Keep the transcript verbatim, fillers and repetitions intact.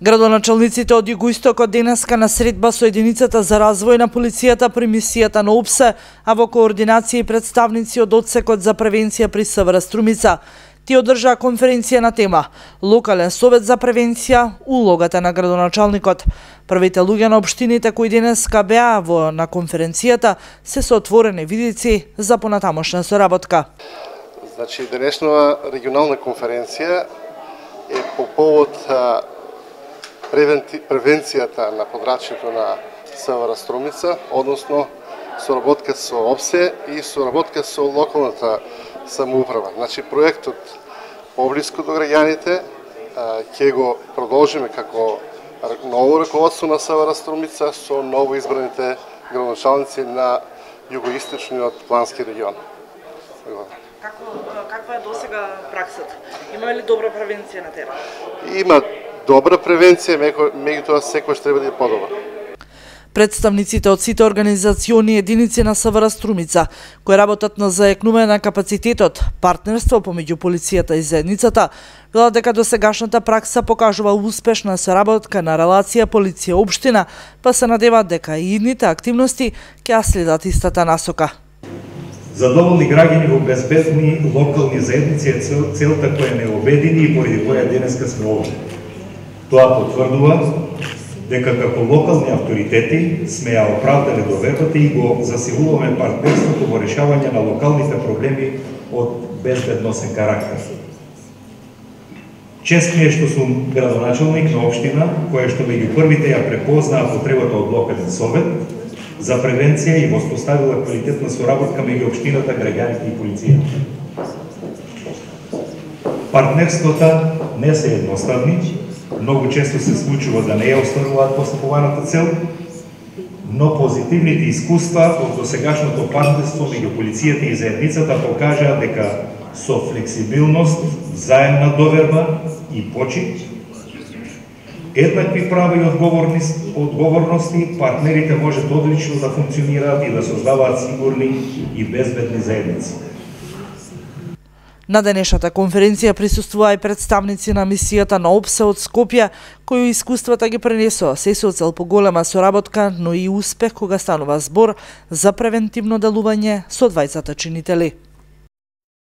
Градоначалниците од Југоистокот денеска на средба со единицата за развој на полицијата при мисијата на ОПСЕ, а во координација и представници од Одсекот за превенција при СВР Струмица. Ти одржаа конференција на тема Локален совет за превенција, улогата на градоначалникот. Првите луѓе на општините кои денеска беа во на конференцијата се со отворени видици за понатамошна соработка. Значи, денешнава регионална конференција е по повод превенцијата на подрачјето на СВР Струмица, односно соработка со ОПСЕ и соработка со локалната самоуправа. Значи, проектот поблиску до граѓаните ќе го продолжиме како ново раководство на СВР Струмица со ново избраните градоначалници на југоисточниот плански регион. Како, каква е досега праксата? Има ли добра превенција на терен? Има добра превенција, меѓутоа секојаш треба да е подобра. Представниците од сите организациони единици на СВР Струмица, кои работат на заекнување на капацитетот, партнерство помеѓу полицијата и заедницата, велат дека досегашната пракса покажува успешна соработка на релација полиција-општина, па се надеваат дека и идните активности ќе следат истата насока. Задоволни граѓани во безбедни локални заедници е целта која не обедини и поради која денеска сме овде. Тоа потврдува дека како локални авторитети сме ја оправдале довербата и го засилуваме партнерството во решавање на локалните проблеми од безбедносен карактер. Чест ми е што сум градоначалник на општина, која што меѓу првите ја препознаа потребата од локален совет за превенција и воспоставила квалитетна соработка меѓу општината, граѓаните и полицијата. Партнерствата не се едноставни, многу често се случува да не ја остваруваат постапуваната цел, но позитивните искуства од досегашното партнерство меѓу полицијата и заедницата покажаа дека со флексибилност, заемна доверба и почит, еднакви права и одговорности, партнерите можат одлично да функционираат и да создаваат сигурни и безбедни заедници. На денешната конференција присуствуваа и представници на мисијата на ОПСЕ од Скопје, кои искуствата ги пренесоа се со цел поголема соработка, но и успех кога станува збор за превентивно делување со двајцата чинители.